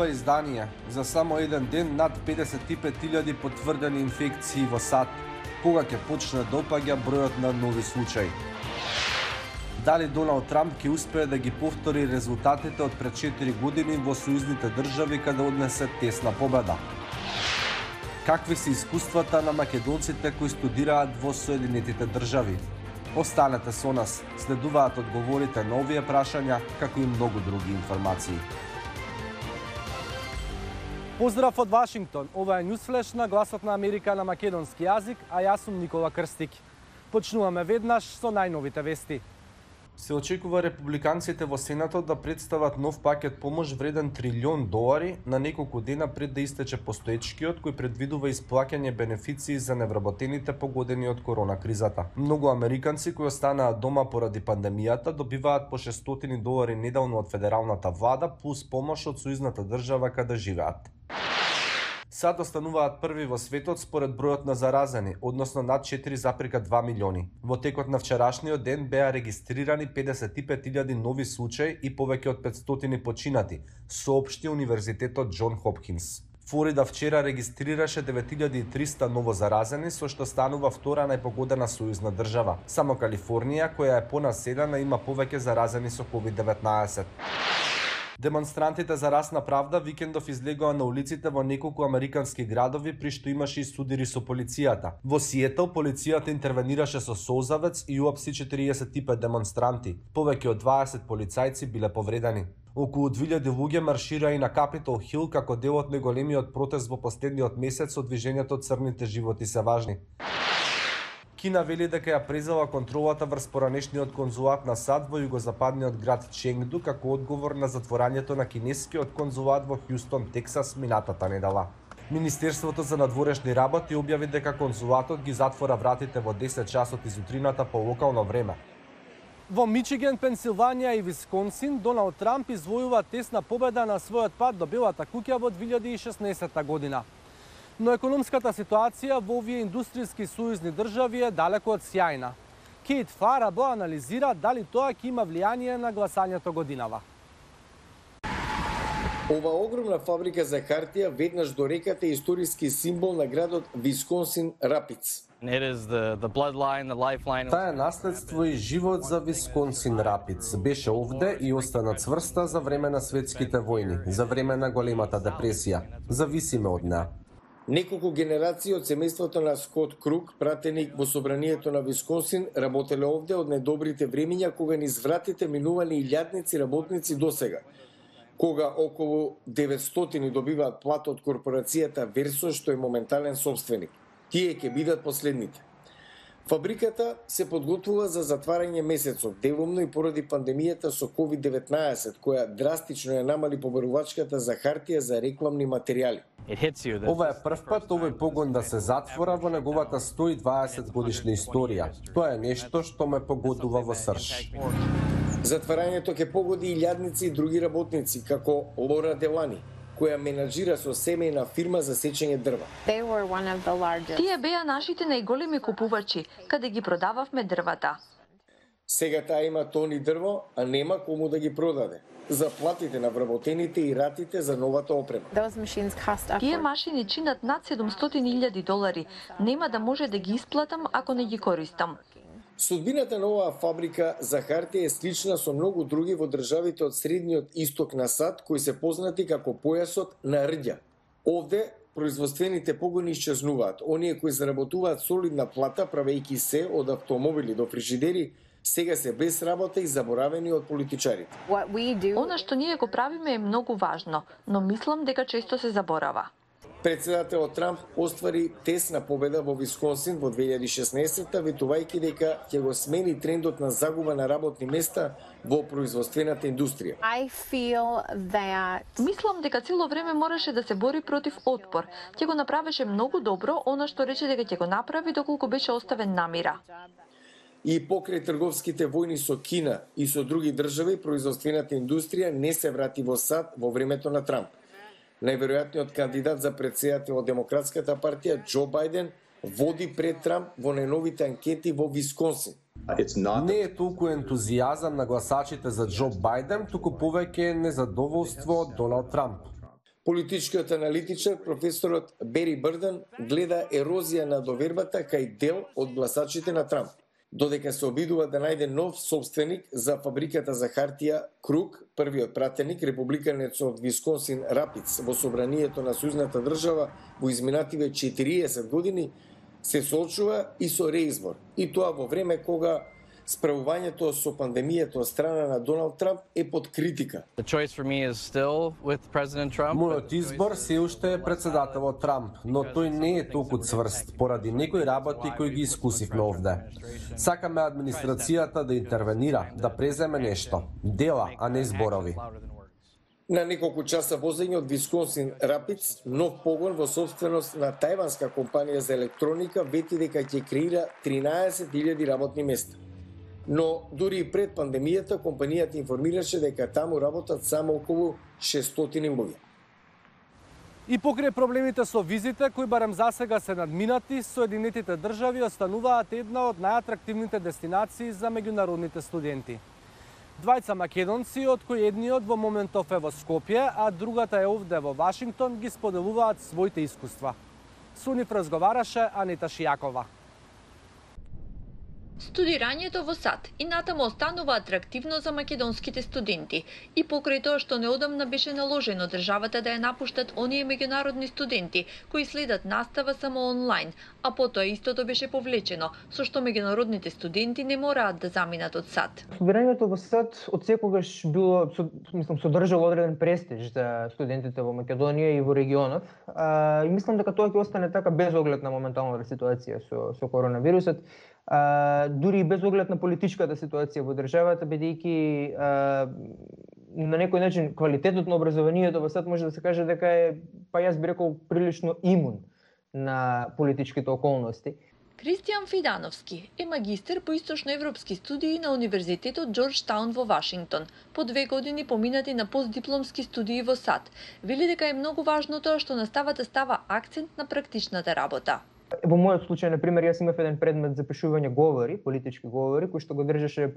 ова издание. За само еден ден над 55.000 потврдени инфекции во САД. Кога ќе почне да опаѓа бројот на нови случаи? Дали Доналд Трамп ќе успее да ги повтори резултатите од пред 4 години во сојузните држави каде однесе тесна победа? Какви се искуствата на македонците кои студираат во Соединетите држави? Останете со нас, следуваат одговорите на овие прашања, како и многу други информации. Поздрав од Вашингтон. Ова е Ньюсфлеш на Гласот на Америка на македонски јазик, а јас сум Никола Крстик. Почнуваме веднаш со најновите вести. Се очекува републиканците во Сенатот да представат нов пакет помош вреден $1 трилион на неколку дена пред да истече постоечкиот, кој предвидува исплаќање бенефиции за невработените погодени од корона кризата. Многу американци кои останаат дома поради пандемијата добиваат по $600 неделно од федералната влада плюс помош од сојузната држава каде живеат. САД остануваат први во светот според бројот на заразени, односно над 4,2 милиони. Во текот на вчерашниот ден беа регистрирани 55.000 нови случаи и повеќе од 500 починати, соопшти Универзитетот Џон Хопкинс. Флорида вчера регистрираше 9.300 ново заразени, со што станува втора најпогодена сојузна држава. Само Калифорнија, која е понаселена, има повеќе заразени со COVID-19. Демонстрантите за расна правда викендов излегоа на улиците во неколку американски градови при што имаше и судири со полицијата. Во Сиетл полицијата интервенираше со солзавец и уапси 45 демонстранти. Повеќе од 20 полицајци биле повредени. Околу 2000 луѓе маршира и на Капитол Хил како дел од најголемиот протест во последниот месец од движењето Црните животи се важни. Кина вели дека ја презела контролата врз поранешниот конзулат на САД во југозападниот град Ченгду како одговор на затворањето на кинескиот конзулат во Хјустон, Тексас минатата недела. Министерството за надворешни работи објави дека конзулатот ги затвора вратите во 10 часот изутрината по локално време. Во Мичиген, Пенсилванија и Висконсин, Доналд Трамп извојува тесна победа на својот пат до Белата куќа во 2016 година. Но економската ситуација во овие индустријски сојузни држави е далеку од сјајна. Кейт Фарабо анализира дали тоа ќе има влијание на гласањето годинава. Ова огромна фабрика за хартија веднаш до реката е историски символ на градот Висконсин Рапидс. Таа е наследство и живот за Висконсин Рапидс. Беше овде и остана цврста за време на светските војни, за време на големата депресија. Зависиме од неа. Неколку генерации од семејството на Скот Крук, пратеник во собранието на Висконсин, работеле овде од најдобрите времиња кога низ вратите минувани илјадници работници досега. Кога околу 900 добиваат плата од корпорацијата Версо, што е моментален собственик. Тие ќе бидат последните. Фабриката се подготвува за затварање месецов, делумно и поради пандемијата со COVID-19, која драстично ја намали побарувачката за хартија за рекламни материјали. Ова е прв пат овој погон да се затвора во неговата 120 годишна историја. Тоа е нешто што ме погодува во срж. Затварањето ќе погоди илјадници и други работници, како Лора Делани, која менаџира со семејна фирма за сечење дрва. Тие беа нашите најголеми купувачи, каде ги продававме дрвата. Сега таа има тони дрво, а нема кому да ги продаде. Заплатите на вработените и ратите за новата опрема. Тие машини чинат над $700,000. Нема да може да ги исплатам ако не ги користам. Судбината на оваа фабрика за хартија е слична со многу други во државите од средниот исток на САД, кои се познати како појасот на рѓа. Овде производствените погони исчезнуваат. Оние кои заработуваат солидна плата, правејќи се од автомобили до фрижидери, сега се без работа и заборавени од политичарите. Она што ние го правиме е многу важно, но мислам дека често се заборава. Председателот Трамп оствари тесна победа во Висконсин во 2016, ветувајќи дека ќе го смени трендот на загуба на работни места во производствената индустрија. Мислам дека цело време мораше да се бори против отпор. Ќе го направеше многу добро, она што рече дека ќе го направи доколку беше оставен на мира. И покрај трговските војни со Кина и со други држави, производствената индустрија не се врати во САД во времето на Трамп. Најверојатниот кандидат за претседател од Демократската партија, Џо Бајден, води пред Трамп во најновите анкети во Висконсин. Не е толку ентузијазам на гласачите за Џо Бајден, туку повеќе незадоволство од Доналд Трамп. Политичкиот аналитичар професорот Бери Бърдън гледа ерозија на довербата кај дел од гласачите на Трамп. Додека се обидува да најде нов собственик за фабриката за хартија Крук, првиот пратеник, републиканец од Висконсин Рапидс во собранието на Сојузната држава во изминативе 40 години, се соочува и со реизбор. И тоа во време кога справувањето со пандемијата од страна на Доналд Трамп е под критика. Мојот избор се уште е председателот Трамп, но тој не е толку цврст поради некои работи кои ги искусивме овде. Сакаме администрацијата да интервенира, да преземе нешто, дела, а не зборови. На неколку часа возење од Висконсин Рапидс, нов погон во собственост на тајванска компанија за електроника вети дека ќе креира 13.000 работни места. Но дури и пред пандемијата компанијата информираше дека таму работат само околу 600 луѓе. И покрај проблемите со визите, кои барем засега се надминати, Соединетите држави остануваат една од најатрактивните дестинации за меѓународните студенти. Двајца македонци, од кои едниот во моментов е во Скопје, а другата е овде во Вашингтон, ги споделуваат своите искуства. Со нив разговараше Анита Шијакова. Студирањето во САД и натаму останува атрактивно за македонските студенти и покрај тоа што неодамна беше наложено државата да ја напуштат оние меѓународни студенти кои следат настава само онлайн, а потоа истото беше повлечено, со што меѓународните студенти не мораат да заминат од САД. Студирањето во САД одсекогаш било, содржало одреден престиж за студентите во Македонија и во регионот. И мислам дека тоа ќе остане така без оглед на моменталната ситуација со коронавирусот. Дури и без оглед на политичката ситуација во државата, бидејќи на некој начин квалитетот на образованието во САД може да се каже дека е, па јас би рекол, прилично имун на политичките околности. Кристијан Фидановски е магистер по источноевропски студии на Универзитетот Џорџтаун во Вашингтон. По 2 години поминати на постдипломски студии во САД. Вели дека е многу важно тоа што наставата става акцент на практичната работа. Во мојот случај, на пример, јас имав еден предмет за пишување говори, политички говори, кој што го држеше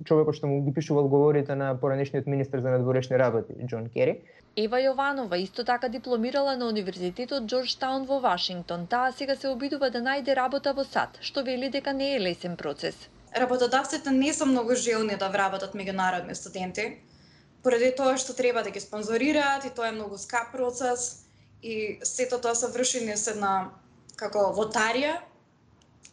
човекот што му ги пишувал говорите на поранешниот министер за надворешни работи, Џон Кери. Ева Јованова исто така дипломирала на Универзитетот Џорџтаун во Вашингтон. Таа сега се обидува да најде работа во САД, што вели дека не е лесен процес. Работодавците не се многу желни да вработат меѓународни студенти, поради тоа што треба да ги спонзорираат и тоа е многу скап процес и сето тоа се врши не се на како лотарија,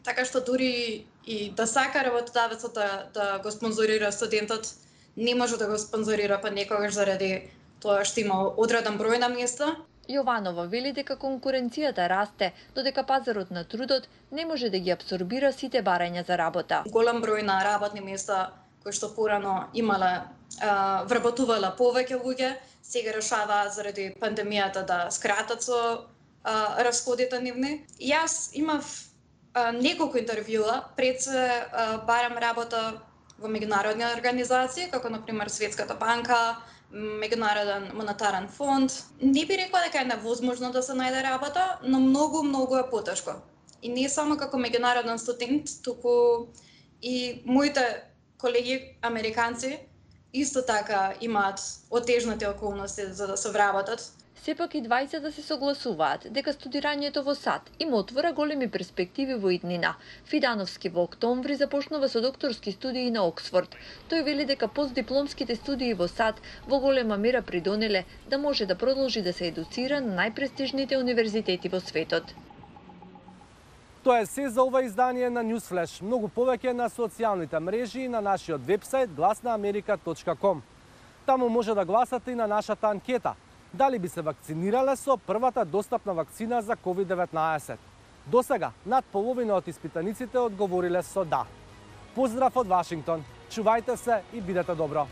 така што дури и да сака работодавецот да го спонзорира студентот, не може да го спонзорира па некогаш заради тоа што има одреден број на места. Јованова вели дека конкуренцијата расте, додека пазарот на трудот не може да ги абсорбира сите барања за работа. Голем број на работни места кои што порано имале вработувала повеќе луѓе, сега решаваат заради пандемијата да скратат со расходите нивни. Јас имав неколку интервјуа пред се барам работа во меѓународни организации, како например Светската банка, Меѓународен монетарен фонд. Не би рекла дека е невозможно да се најде работа, но многу е потешко. И не само како меѓународен студент, туку и моите колеги американци исто така имаат отежнати околности за да се вработат. Сепак и двајцата се согласуваат дека студирањето во САД им отвора големи перспективи во иднина. Фидановски во октомври започнува со докторски студии на Оксфорд. Тој вели дека постдипломските студии во САД во голема мера придонеле да може да продолжи да се едуцира на најпрестижните универзитети во светот. Тоа е се за ова издание на Newsflash. Многу повеќе на социјалните мрежи и на нашиот вебсайт glasnaamerika.com. Таму може да гласате и на нашата анкета. Дали би се вакцинирале со првата достапна вакцина за COVID-19? Досега, над половина од испитаниците одговориле со да. Поздрав од Вашингтон. Чувајте се и бидете добро.